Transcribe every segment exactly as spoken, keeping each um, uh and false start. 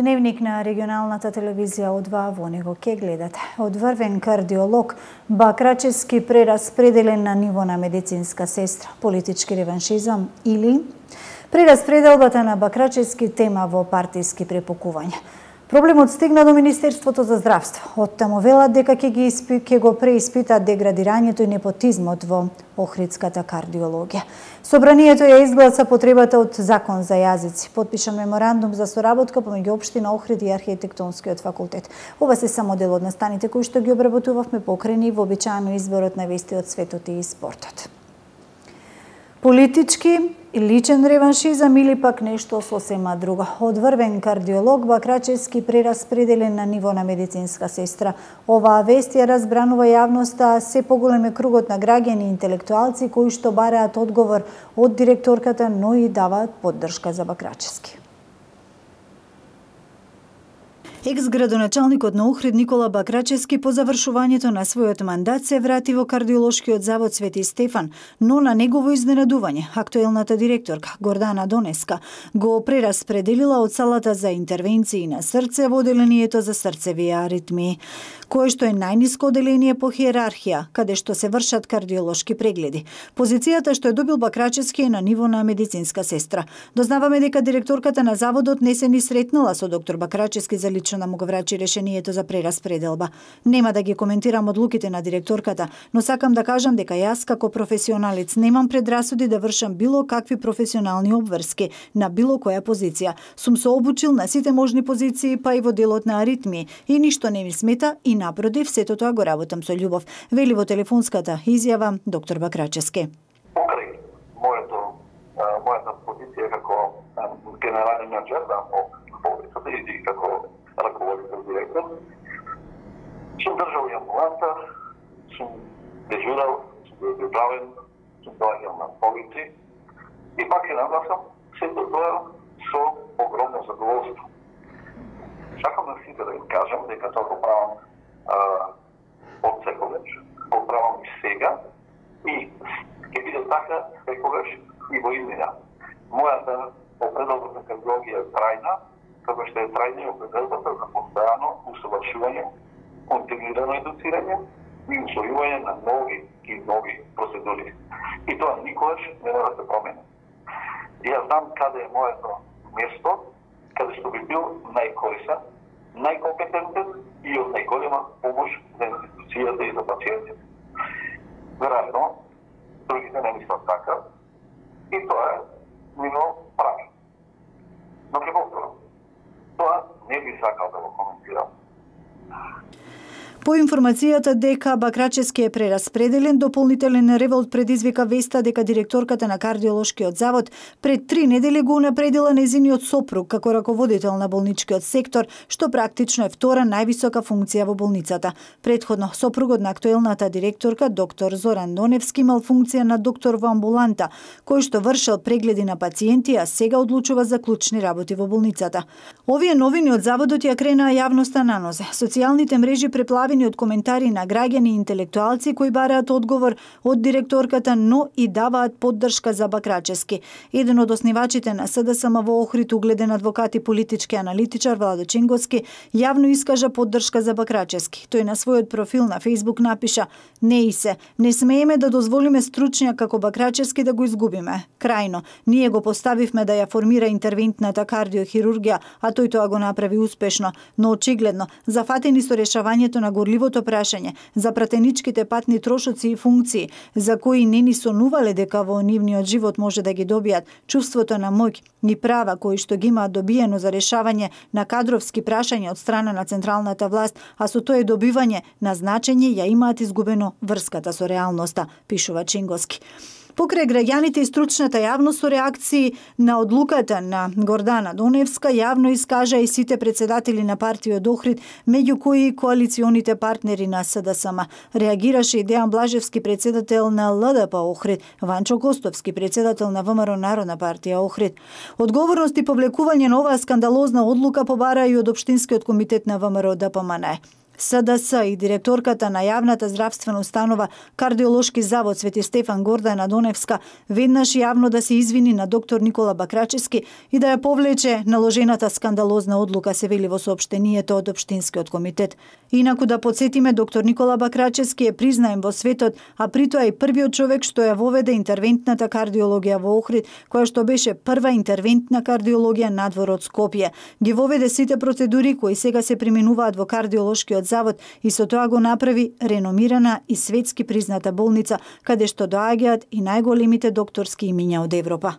Дневник на регионалната телевизија од два во него ке гледате. Одврвен кардиолог, Бакрачевски прераспределен на ниво на медицинска сестра, политички реваншизам или прераспределбата на Бакрачевски тема во партиски препокувања. Проблемот стигна до Министерството за здравство. Од таму велат дека ќе ги испи, ќе го преиспитат деградирањето и непотизмот во охридската кардиологија. Собранието ја изгласа потребата од закон за јазици. Потпишан меморандум за соработка помеѓу општина Охрид и архитектонскиот факултет. Ова се само дел од настаните кои што ги обработувавме покрајни вообичаено изборот на вести од светот и спортот. Политички и личен реваншизам или пак нешто сосема друго. Одврвен кардиолог, Бакрачевски прераспределен на ниво на медицинска сестра. Оваа вест ја разбранува јавноста, се поголем е кругот на граѓани и интелектуалци кои што бараат одговор од директорката, но и даваат поддршка за Бакрачевски. Екс-градоначалникот на Охрид Никола Бакрачевски по завршувањето на својот мандат се врати во кардиолошкиот завод Свети Стефан, но на негово изненадување актуелната директорка Гордана Донеска го прераспределила од салата за интервенции на срце во оделението за срцеви аритмии, кое што е најниско оделение по хиерархија, каде што се вршат кардиолошки прегледи. Позицијата што е добил Бакрачевски е на ниво на медицинска сестра. Дознаваме дека директорката на заводот не се ни сретнала со доктор Бакрачевски за лично да му го врачи решението за прераспределба. Нема да ги коментирам одлуките на директорката, но сакам да кажам дека јас како професионалец немам предрасуди да вршам било какви професионални обврски на било која позиција. Сум се обучил на сите можни позиции, па и во делот на аритмии, и ништо не ми смета и напротив, сето тоа го работам со љубов, вели во телефонската изјава доктор Бакрачевски. Покрај моето мојата позиција како генерален менеджер на болницата и како раководител директор, сум држал и амбуланта, сум дежурал, сум бил приправен, сум доаѓал на болници и пак е нагласам сето тоа со огромно задоволство. Сакам на сите да им кажам дека тоа го правам од секогаш, го правам и сега и ќе биде така секогаш и во иднина. Мојата определба за кардиологија е трајна, како што е трајна и определбата за постојано усовршување, континуирано едуцирање и усвојување на нови и нови процедури. И тоа никогаш не мора да се промени. Јас знам каде е моето место, каде што би бил најкорисен, најкомпетентен и од најголема помош за институцијата и за пациентите. Веројатно, другите не мислат така и тоа е ниво прави. Но ќе повторам, тоа не би сакал да го коментирам. По информацијата дека Бакрачевски е прераспределен, дополнителен револт предизвика веста дека директорката на кардиолошкиот завод пред три недели го унапредила нејзиниот сопруг како раководител на болничкиот сектор, што практично е втора највисока функција во болницата. Предходно, сопругот на актуелната директорка, доктор Зоран Доневски, имал функција на доктор во амбуланта, кој што вршел прегледи на пациенти, а сега одлучува за клучни работи во болницата. Овие новини од заводот ја кренаа јавноста на нозе. Социјалните мрежи преплавени од коментари на граѓани и интелектуалци кои бараат одговор од директорката, но и даваат поддршка за Бакрачевски. Еден од основачите на СДСМ во Охрид, угледен адвокат и политички аналитичар Владо Чинговски, јавно искажа поддршка за Бакрачевски. Тој на својот профил на Фејсбук напиша: "Не и се, не смееме да дозволиме стручњак како Бакрачевски да го изгубиме. Крајно, ние го поставивме да ја формира интервентната кардиохирургија, а тој тоа го направи успешно, но очигледно зафатени со решавањето на горливото прашање за пратеничките патни трошоци и функции, за кои не ни сонувале дека во нивниот живот може да ги добијат, чувството на моќ и права кои што ги имаат добиено за решавање на кадровски прашања од страна на централната власт, а со тоа добивање на значење ја имаат изгубено врската со реалноста", пишува Чинговски. Покрај граѓаните и стручната јавност со реакции на одлуката на Гордана Доневска, јавно искажа и сите председатели на партиот Охрид, меѓу кои и коалиционите партнери на СДСМ. Реагираше и Дејан Блажевски, председател на ЛДП Охрид, Ванчо Костовски, председател на ВМРО Народна партија Охрид. Одговорност и повлекување на оваа скандалозна одлука побара и од Општинскиот комитет на ВМРО ДПМН. С Д С и директорката на јавната здравствена установа Кардиолошки завод Свети Стефан Гордана Доневска веднаш јавно да се извини на доктор Никола Бакрачевски и да ја повлече наложената скандалозна одлука, се вели во соопштението од Општинскиот комитет. Инаку да подсетиме, доктор Никола Бакрачевски е признаем во светот, а при тоа и првиот човек што ја воведе интервентната кардиологија во Охрид, која што беше прва интервентна кардиологија надвор од Скопје. Ги воведе сите процедури кои сега се применуваат во Кардиолошкиот завод и со тоа го направи реномирана и светски призната болница, каде што доаѓаат и најголемите докторски имиња од Европа.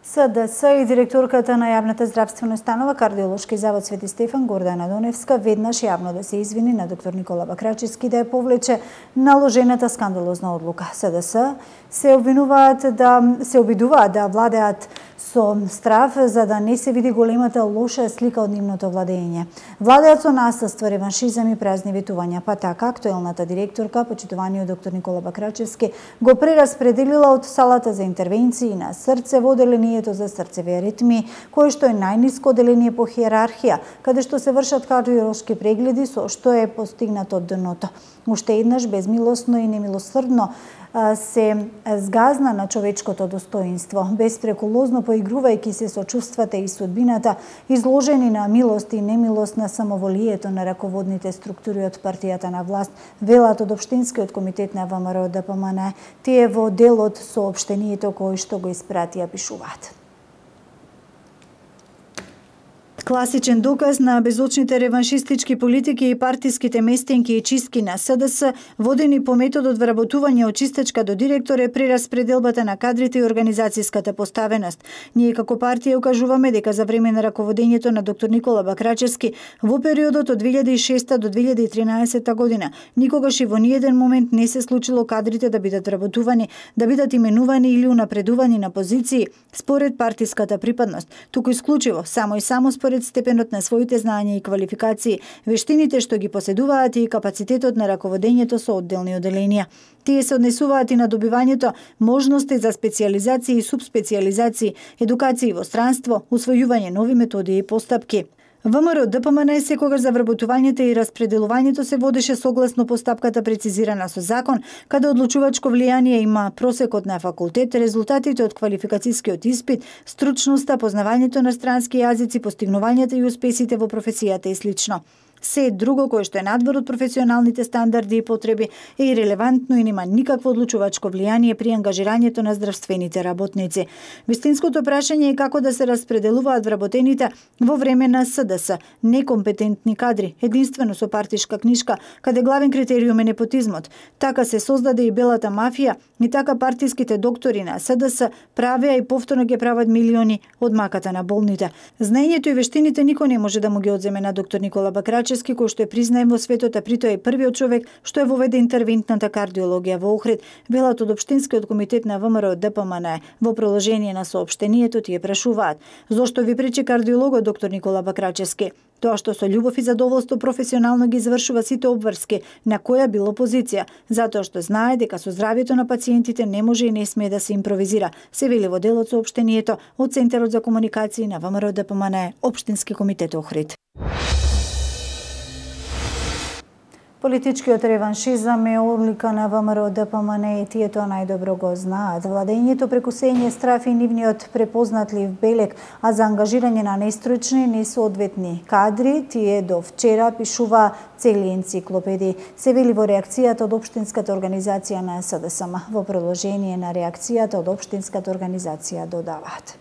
С Д С и директорката на јавната здравствена установа Кардиолошки завод Свети Стефан Гордана Доневска веднаш јавно да се извини на доктор Никола Бакрачевски да ја повлече наложената скандалозна одлука. С Д С се обвинуваат да се обидуваат да владеат со страв за да не се види големата лоша слика од нивното владење. Владеат со насилство, реваншизам и празни ветувања, па така актуелната директорка, почитуваниот доктор Никола Бакрачевски, го прераспределила од салата за интервенции на срце во оделението за срцеви аритмии, кое што е најниско оделение по хиерархија, каде што се вршат кардиолошки прегледи, со што е постигнато дното. Уште еднаш безмилосно и немилосрдно се згазна на човечкото достоинство, беспреколозно поигрувајќи се со чувствата и судбината, изложени на милост и немилост на самоволието на раководните структури од партијата на власт, велат од Општинскиот комитет на В М Р Д П М Н. Тие во делот соопштението кој што го испратија пишуваат. Класичен доказ на безочните реваншистички политики и партиските местенки и чистки на С Д С, водени по методот вработување од чистачка до директор, е прераспределбата на кадрите и организацијската поставеност. Ние како партија укажуваме дека за време на раководењето на доктор Никола Бакрачевски во периодот од две илјади и шеста до две илјади и тринаесета година никогаш и во ниеден момент не се случило кадрите да бидат вработувани, да бидат именувани или унапредувани на позиции според партиската припадност, туку исклучиво само и само според степенот на своите знаења и квалификации, вештините што ги поседуваат и капацитетот на раководењето со одделни оделенија. Тие се однесуваат и на добивањето можности за специализации и субспециализации, едукации во странство, усвојување нови методи и постапки. В М Р Д П М Н секогаш за вработувањето и распределувањето се водеше согласно постапката прецизирана со закон, каде одлучувачко влијание има просекот на факултет, резултатите од квалификацијскиот испит, стручноста, познавањето на странски јазици, постигнувањата и успесите во професијата и слично. Се друго кое што е надвор од професионалните стандарди и потреби е ирелевантно и нема никакво одлучувачко влијание при ангажирањето на здравствените работници. Вистинското прашање е како да се распределуваат вработените во време на С Д С, некомпетентни кадри, единствено со партишка книшка, каде главен критериум е непотизмот. Така се создаде и белата мафија и така партиските доктори на С Д С правеа и повторно ги прават милиони од маката на болните. Знаењето и вештините никој не може да му ги одземе на доктор Никола Бакрачевски, кој што е признаем во светот, а при тоа е првиот човек што е воведе интервентната кардиологија во Охрид, велат од Општинскиот комитет на В М Р Д П М Н. Во проложение на соопштението тие прашуваат: зошто ви пречи кардиологот доктор Никола Бакрачевски? Тоа што со љубов и задоволство професионално ги извршува сите обврски, на која било позиција, затоа што знае дека со здравјето на пациентите не може и не смее да се импровизира, се вели во делот соопштението од Центарот за комуникации на В М Р Д П М Н, Општински комитет Охрид. Политичкиот реваншизам е одлика на В М Р Д П М Н и тие тоа најдобро го знаат. Владењето преку сење страф и нивниот препознатлив белег, а за ангажирање на нестручни, несоодветни кадри, тие до вчера пишува цели енциклопедии. Се вели во реакцијата од Општинската организација на С Д С М. Во продолжение на реакцијата од Општинската организација додаваат: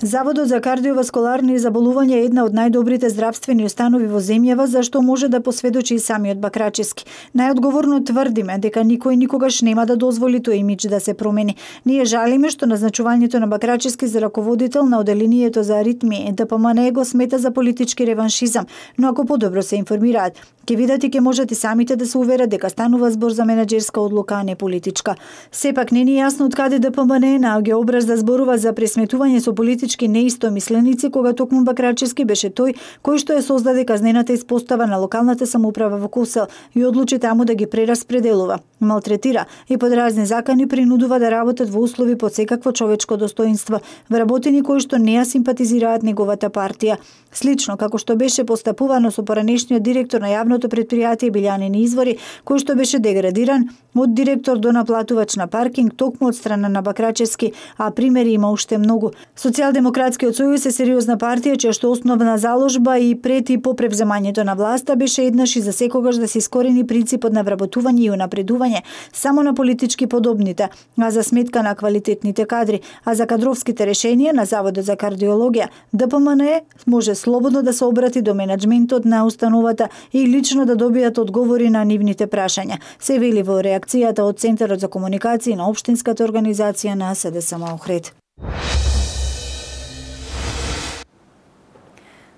Заводот за кардиоваскуларни заболувања е една од најдобрите здравствени установи во земјава, за што може да посведочи и самиот Бакрачевски. Најодговорно тврдиме дека никој никогаш нема да дозволи тој имидж да се промени. Ние жалиме што назначувањето на Бакрачевски за раководител на оделението за аритмии Д П М Н го смета за политички реваншизам, но ако подобро се информираат, ќе видат и ќе можат и самите да се уверат дека станува збор за менаџерска одлука, а не политичка. Сепак не ни е јасно од каде Д П М Н наоѓа образ да зборува за пресметување со политички политички неистомисленици, кога токму Бакрачевски беше тој кој што ја создаде казнената испостава на локалната самоуправа во Косел и одлучи таму да ги прераспределува, малтретира и под разни закани принудува да работат во услови под секакво човечко достоинство, вработени кои што не ја симпатизираат неговата партија. Слично како што беше постапувано со поранешниот директор на јавното претпријатие Билјанин Извори, кој што беше деградиран од директор до наплатувач на паркинг токму од страна на Бакрачевски, а примери има уште многу. Социјалдемократскиот сојуз е сериозна партија чија што основна заложба и пред и по превземањето на власта беше еднаш и за секогаш да се искорени принципот на вработување и унапредување само на политички подобните, а за сметка на квалитетните кадри, а за кадровските решенија на Заводот за кардиологија Д П М Н Е може слободно да се обрати до менаџментот на установата и лично да добијат одговори на нивните прашања, се вели во реакцијата од Центарот за комуникација на општинската организација на С Д С М Охрид.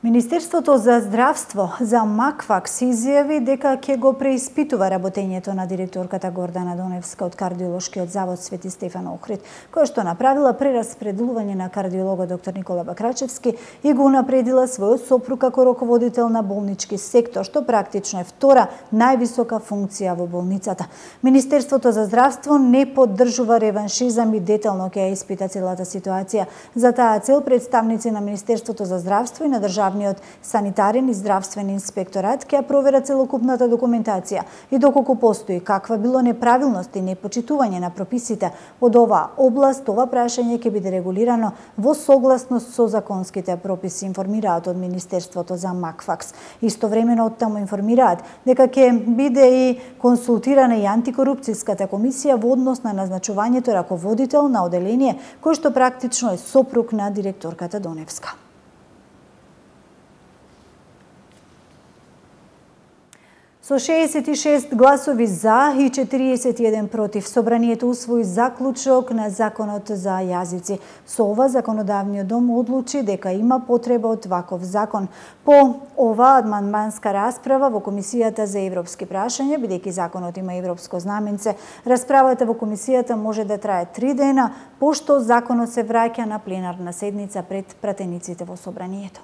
Министерството за здравство за Макфакс изјави дека ќе го преиспитува работењето на директорката Гордана Доневска од кардиолошкиот завод Свети Стефан Охрид, која што направила прераспределување на кардиологот доктор Никола Бакрачевски и го унапредила својот сопруг како раководител на болнички сектор, што практично е втора највисока функција во болницата. Министерството за здравство не поддржува реваншизам и детално ќе ја испита целата ситуација. За таа цел представници на Министерството за здравство и на државниот санитарен и здравствен инспекторат ќе провера целокупната документација и доколку постои каква било неправилност и непочитување на прописите од оваа област, ова прашање ќе биде регулирано во согласност со законските прописи, информираат од Министерството за Макфакс. Истовремено од таму информираат дека ќе биде и консултирана и антикорупцијската комисија во однос на назначувањето раководител на оделение кој што практично е сопруг на директорката Доневска. Со шеесет и шест гласови за и четириесет и еден против, собранието усвои заклучок на Законот за јазици. Со ова законодавниот дом одлучи дека има потреба од ваков закон. По ова амандманска расправа во Комисијата за европски прашања, бидејќи законот има европско знаменце, расправата во комисијата може да трае три дена, пошто законот се враќа на пленарна седница пред пратениците во собранието.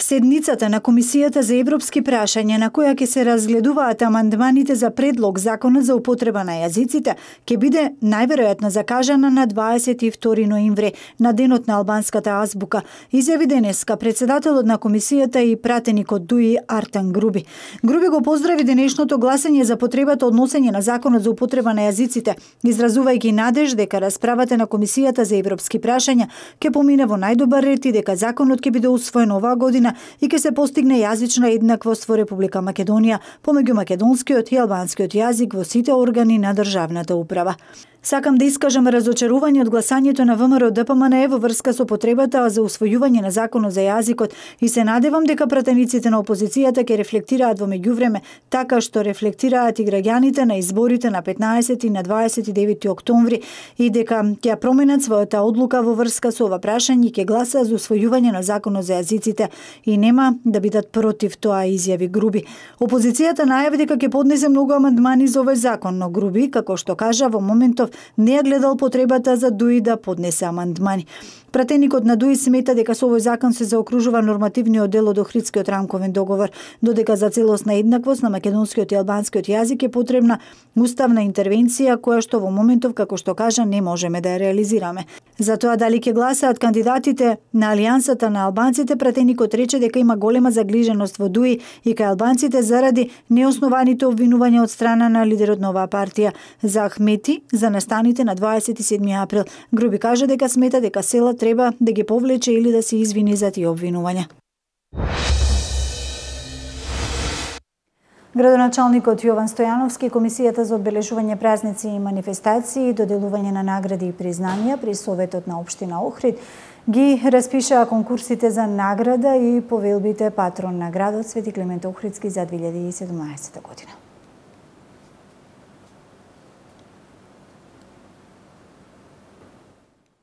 Седницата на Комисијата за европски прашања, на која ќе се разгледуваат амандманите за предлог законот за употреба на јазиците, ќе биде најверојатно закажана на дваесет и втори ноември, на денот на албанската азбука, изјави денеска председателот на комисијата и пратеникот Дуи Артан Груби. Груби го поздрави денешното гласање за потребата од носење на законот за употреба на јазиците, изразувајќи надеж дека расправата на Комисијата за европски прашања ќе помине во најдобар ред и дека законот ќе биде усвоен оваа година и ќе се постигне јазична еднаквост во Република Македонија помеѓу македонскиот и албанскиот јазик во сите органи на државната управа. Сакам да искажам разочарување од гласањето на ВМРО Д П М Н Е во врска со потребата за усвојување на законот за јазикот и се надевам дека пратениците на опозицијата ќе рефлектираат во меѓувреме така што рефлектираат и граѓаните на изборите на петнаесети и на дваесет и девети октомври и дека ќе променат својата одлука во врска со ова прашање и ќе гласаат за усвојување на законот за јазиците и нема да бидат против тоа, изјави Груби. Опозицијата најави дека ќе поднесе многу амандмани за овој закон, но Груби, како што кажа, во моментов не ја гледал потребата за Дуи да поднесе амандмани. Пратеникот на Дуи смета дека со овој закон се заокружува нормативниот дел од Охридскиот рамковен договор, додека за целосна еднаквост на македонскиот и албанскиот јазик е потребна уставна интервенција која што во моментов, како што кажа, не можеме да ја реализираме. За тоа дали ќе гласаат кандидатите на Алијансата на албанците, пратеникот рече дека има голема загриженост во Дуи и кај албанците заради неоснованите обвинувања од страна на лидерот на оваа партија за Ахмети за настаните на дваесет и седми април. Груби кажа дека смета дека села треба да ги повлече или да се извини за тие обвинувања. Градоначалникот Јован Стојановски, Комисијата за одбележување празници и манифестации и доделување на награди и признанија при Советот на општина Охрид ги распишаа конкурсите за награда и повелбите патрон на градот Свети Климент Охридски за две илјади и седумнаесета година.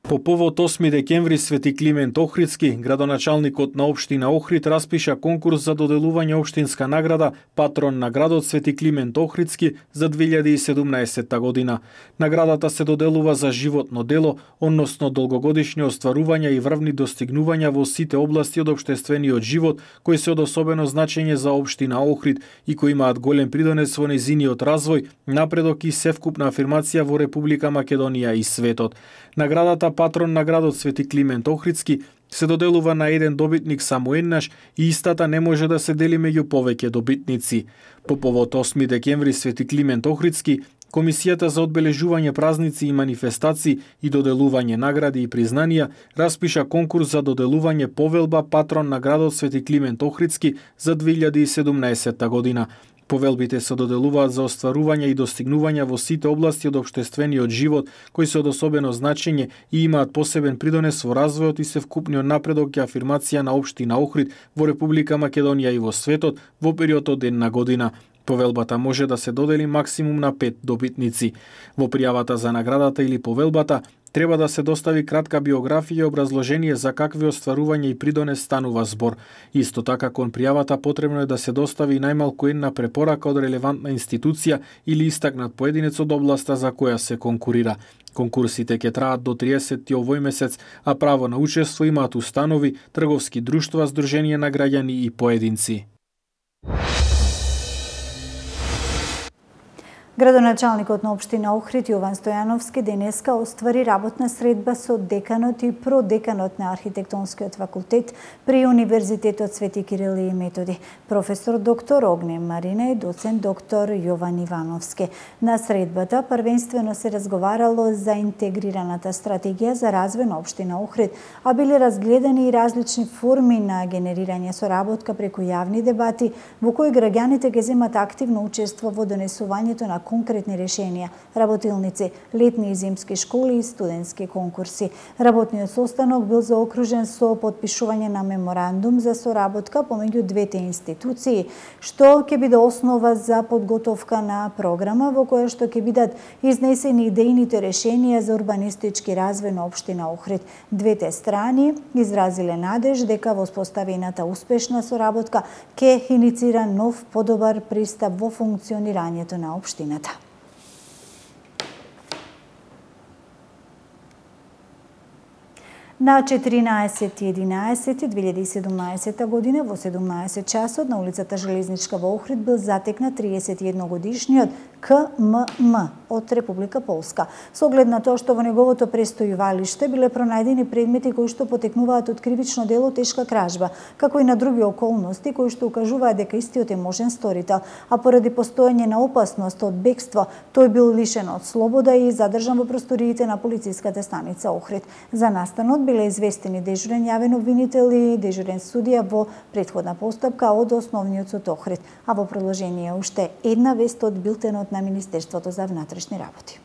По повод осми декември Свети Климент Охридски, градоначалникот на општина Охрид распиша конкурс за доделување општинска награда патрон на градот Свети Климент Охридски за две илјади и седумнаесетта година. Наградата се доделува за животно дело, односно долгогодишни остварувања и врвни достигнувања во сите области од општествениот живот кои се од особено значење за општина Охрид и кои имаат голем придонес во нејзиниот развој, напредок и севкупна афирмација во Република Македонија и светот. Наградата патрон на градот Свети Климент Охридски се доделува на еден добитник само еднаш и истата не може да се дели меѓу повеќе добитници. По повод осми декември Свети Климент Охридски, Комисијата за одбележување празници и манифестации и доделување награди и признанија распиша конкурс за доделување повелба патрон на градот Свети Климент Охридски за две илјади и седумнаесетта година. Повелбите се доделуваат за остварување и достигнувања во сите области од општествениот живот, кои се од особено значење и имаат посебен придонес во развојот и севкупниот напредок и афирмација на општина Охрид во Република Македонија и во светот во период од една година. Повелбата може да се додели максимум на пет добитници. Во пријавата за наградата или повелбата треба да се достави кратка биографија и образложение за какви остварувања и придонес станува збор. Исто така кон пријавата потребно е да се достави најмалку една препорака од релевантна институција или истакнат поединец од областа за која се конкурира. Конкурсите ќе траат до триесетти овој месец, а право на учество имаат установи, трговски друштва, здруженија на граѓани и поединци. Градоначалникот на општина Охрид Јован Стојановски денеска оствари работна средба со деканот и продеканот на архитектонскиот факултет при Универзитетот Свети Кирил и Методи, професор доктор Огне Марина и доцент доктор Јован Ивановски. На средбата првенствено се разговарало за интегрираната стратегија за развој на општина Охрид, а биле разгледани и различни форми на генерирање соработка преку јавни дебати во кои граѓаните ќе земат активно учество во донесувањето на конкретни решенија, работилници, летни и зимски школи и студентски конкурси. Работниот состанок бил заокружен со потпишување на меморандум за соработка помеѓу двете институции, што ќе биде основа за подготовка на програма во која што ќе бидат изнесени идејните решенија за урбанистички развој на општина Охрид. Двете страни изразиле надеж дека во споставената успешна соработка ќе иницира нов подобар пристап во функционирањето на општина. На четиринаесети единаесети две илјади и седумнаесетта година во седумнаесет часот на улицата Железничка во Охрид бил затекнат триесет и едногодишниот К М М од Република Полска. Со оглед на тоа што во неговото престојувалиште биле пронајдени предмети кои што потекнуваат од кривично дело тешка кражба, како и на други околности кои што укажуваат дека истиот е можен сторител, а поради постоење на опасност од бегство, тој бил лишен од слобода и задржан во просториите на полициската станица Охрид. За настанот биле известени дежурен јавен обвинител и дежурен судија во претходна постапка од Основниот суд Охрид, а во продолжение уште една вест од билтенот на Министерството за внатрешни работи.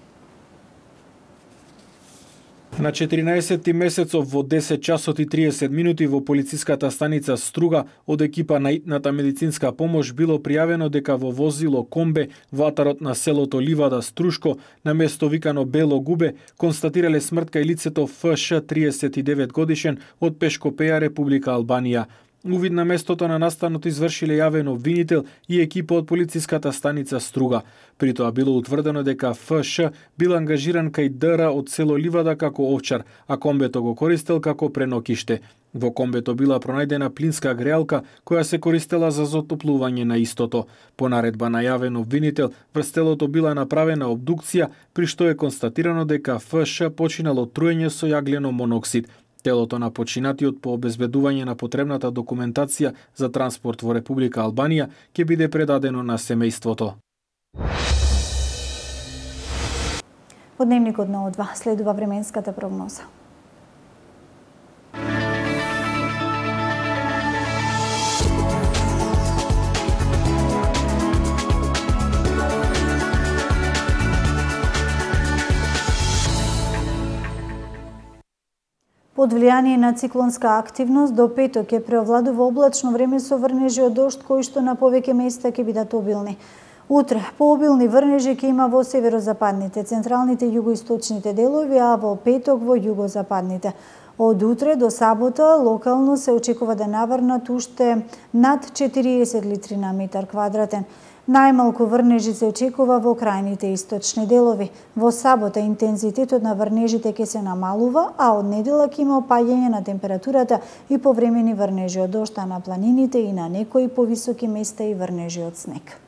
На четиринаесетти месецов во десет часот и триесет минути во полициската станица Струга од екипа на итната медицинска помош било пријавено дека во возило комбе во атарот на селото Ливада Струшко на место викано Бело Губе констатирале смрт кај лицето Ф Ш триесет и девет годишен од Пешкопеја, Република Албанија. Увид на местото на настанот извршиле јавен обвинител и екипа од полициската станица Струга. При тоа било утврдено дека Ф Ш бил ангажиран кај Д Р од село Ливада како овчар, а комбето го користел како пренокиште. Во комбето била пронајдена плинска греалка која се користела за затоплување на истото. По наредба на јавен обвинител, врз телото била направена обдукција, при што е констатирано дека Ф Ш починал од труење со јаглено моноксид. Телото на починатиот по обезбедување на потребната документација за транспорт во Република Албанија ќе биде предадено на семејството. По дневникот на О два следува временската прогноза. Под влијание на циклонска активност до петок ќе преовладува облачно време со врнежи од дожд кои што на повеќе места ќе бидат обилни. Утре пообилни врнежи ќе има во северозападните, централните и југоисточните делови, а во петок во југозападните. Од утре до сабота локално се очекува да наврнат уште над четириесет литри на метар квадратен. Најмалку врнежи се очекува во крајните источни делови. Во сабота интензитетот на врнежите ќе се намалува, а од недела ќе има опаѓање на температурата и повремени врнежи од дожд на планините и на некои повисоки места и врнежи од снег.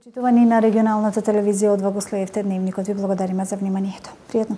Почитувани на регионалната телевизија од Вагослеевте дневникот, ви благодариме за вниманието. Пријатно.